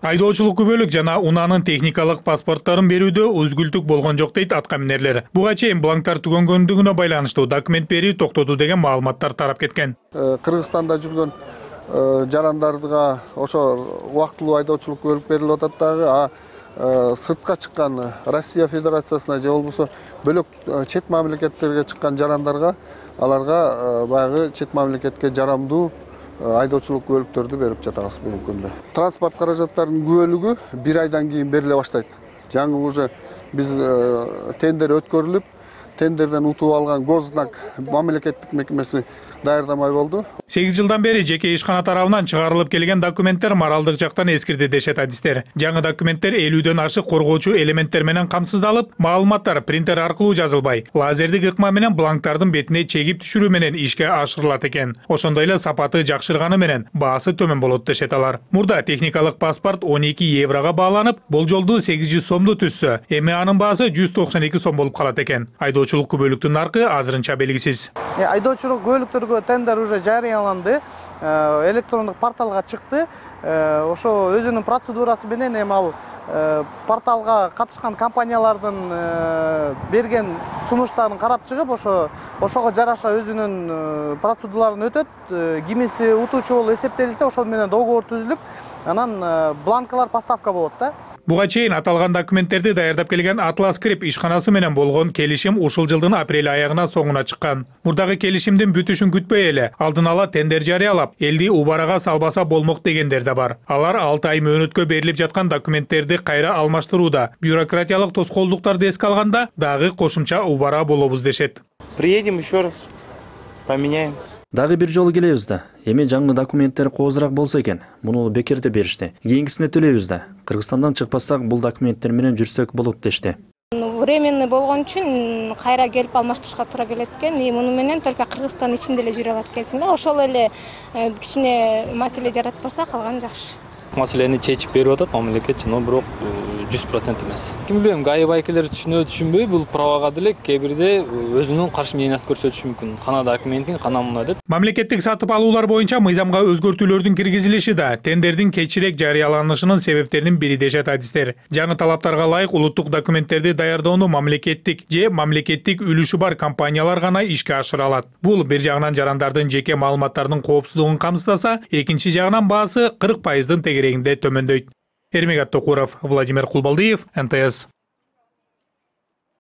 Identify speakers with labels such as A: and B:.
A: Айдоочулук күбөлүк жана унаанын техникалык паспорттарын берүүдө өзгүлтүк болгон жок дейт атка минерлер. Буга чейин бланктар түгөнгөндүгүнө байланыштуу документ берүү токтоту деген маалыматтар тарап кеткен.
B: Кыргызстанда жүргөн жарандарга ошо убактылуу айдоочулук күбөлүк берилип атат дагы, сыртка чыккан Россия Федерациясына же болбосо бөлөк чет мамлекеттерге чыккан жарандарга аларга баягы чет мамлекетке жарамдуу айдоочулук күбөлүктөрдү берип жатабыз бүгүнкү күндө. Транспорт каражаттарынын күбөлүгү 1 айдан кийин бериле баштайт. Жаңы уже биз тендер өткөрүлүп, тендерден утуп алган Гознак мамлекеттик мекемеси даярдамай болду.
A: 8 жылдан бери жеке ишкана тарабынан чыгарылып келген документтер моралдык жактан эскирди дешет адистер. Жаңы документтер 50дөн ашык коргоочу элементтер менен камсыздалып, маалыматтар принтер аркылуу жазылбай, лазердик ыкма менен бланктардын бетине чегип түшүрүү менен ишке ашырылат экен. Ошондой эле сапаты жакшырганы менен баасы төмөн болот дешет алар. Мурда техникалык паспорт 12 еврого бааланып, болжолдуу 800 сомду түзсө, эми анын баасы 192 сом болуп калат экен. Айдоочулук күбөлүктүн наркы азырынча белгисиз.
C: Айдоочулук күбөлүктөргө тендер уже жарыяланды. Электрондук порталга чыкты. Ошо өзүнүн процедурасы менен эми ал порталга катышкан компаниялардын берген сунуштарын карап чыгып, ошого жараша өзүнүн процедураларын өтөт. Кимиси утуучу болуп эсептелсе, ошол менен договор түзүлүп, анан бланкалар поставка болот да.
A: Буга чейин аталган документтерди даярдап келген Атлас Крип ишканасы менен болгон келишим ушул жылдын апрель аягына соңуна чыккан. Мурдагы келишимдин бүтүшүн күтпөй эле алдын ала тендер жарыялап, элди убарага салбаса болмок дегендер да бар. Алар 6 ай мөөнөткө берилип жаткан документтерди кайра алмаштырууда, бюрократиялык тоскоолдуктарды эске алганда дагы кошумча убара болобуз дешет.
D: Приедем еще раз, поменяем.
E: Дагы бир жолу келебиз да. Эми жаңы документтер коозураак болсо экен. Муну бекерде беришти. Кийинкисине төлөйбүз да. Кыргызстандан чыкпасак, бул документтер менен жүрсөк болот дешти.
F: Временный болгон үчүн кайра келип алмаштырышка туура келет экен. Муну менен только Кыргызстан ичинде эле жүрө алат экенсиң да. Ошол эле кичине маселе жаратпаса, калганы жакшы.
G: Маселени чечип берип атат мамлекет, но бирок 100% эмес. Ким билем, ГАИ байкелер түшүнбөй, бул правага деле кээ бирде өзүнүн каршы мнениясын көрсөтүшү мүмкүн. Кана документин, кана мына деп.
A: Мамлекеттик сатып алуулар боюнча мыйзамга өзгөртүүлөрдүн киргизилиши да тендердин кечирээк жарыяланышынын себептеринин бири дешет адистер. Жаңы талаптарга ылайык улуттук документтерди даярдоону мамлекеттик үлүшү бар компаниялар гана ишке ашыра алат. Бул бир жагынан жарандардын жеке маалыматтарынын коопсуздугун камсыздаса, экинчи жагынан баасы 40%-дын тегерегинде төмөндөйт. Эрмек Аттокуров, Владимир Кулбалдиев, НТС.